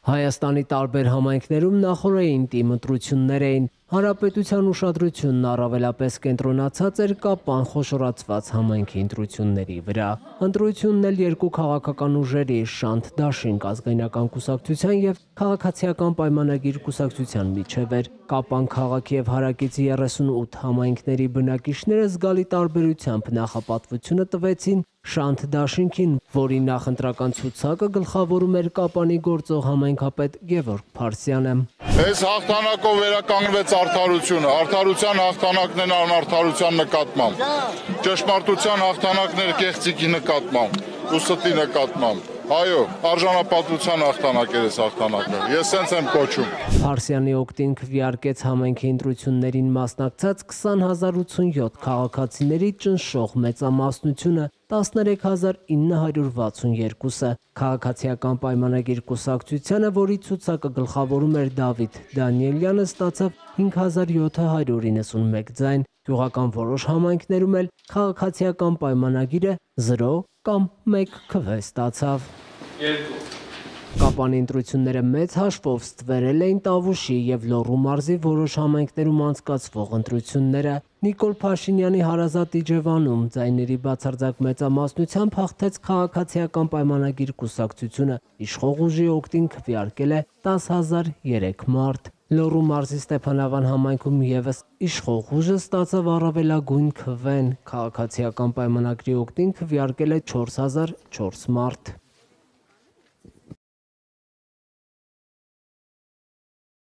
Հայաստանի տարբեր համայնքներում նախօրեին տիմ ընտրություններ էին։ Հանրապետության ուշադրությունն առավելապես կենտրոնացած էր Կապան խոշորացված համայնքի ընտրությունների վրա։ Ընտրությունն էլ երկու քաղաքական ուժերի՝ Շանթ Դաշինք ազգայնական կուսակցության եւ Քաղաքացիական պայմանագիր կուսակցության միջև էր։ Կապան քաղաքի եւ հարակից 38 համայնքների բնակիչները զգալի տարբերությամբ նախապատվությունը տվեցին Շանթ Դաշինքին, որի նախընտրական ցուցակը գլխավորում էր Կապանի գործող համայնքապետ Գևորգ Փարսյանը։ Այս հաղթանակով վերականգնվեց արդարությունը, արդարության հաղթանակն են անարդարության նկատմամբ, ճշմարտության հաղթանակն էր կեղծիքի նկատմամբ, ու ստի նկատմամբ։ Այո, արժանապատվության հաղթանակ էր այս հաղթանակը, ես սենց եմ կոչում։ Փարսյանի օգտին քվեարկեց համայնքի ընտրություններին մասնակցած 20,087 քաղաքացիների ճնշող մեծամասնությունը 13,962-ը։ Քաղաքացիական պայմանագիր կուսակցությանը, որի ցուցակը գլխավորում էր Դավիթ Դանիելյանը, ստացավ 5,791 ձայն։ Գյուղական որոշ համայնքներում էլ քաղաքացիական պայմանագիրը 0 կամ 1 քվե ստացավ։ Կապանի ընտրությունները մեծ հաշվով ստվերել էին Տավուշի եւ Լոռու մարզի որոշ համայնքներում անցկացվող ընտրությունները։ Նիկոլ Փաշինյանի հարազատ Իջևանում ձայների բացարձակ մեծամասնությամբ հաղթեց Քաղաքացիական պայմանագիր կուսակցությունը, իշխող ուժի օգտին քվեարկել է 10,003 մարդ։ Լոռու մարզի Ստեփանավան համայնքում եւս իշխող ուժը ստացավ առավելագույն քվեն, Քաղաքացիական պայմանագրի օգտին քվեարկել է 4,004 մարդ։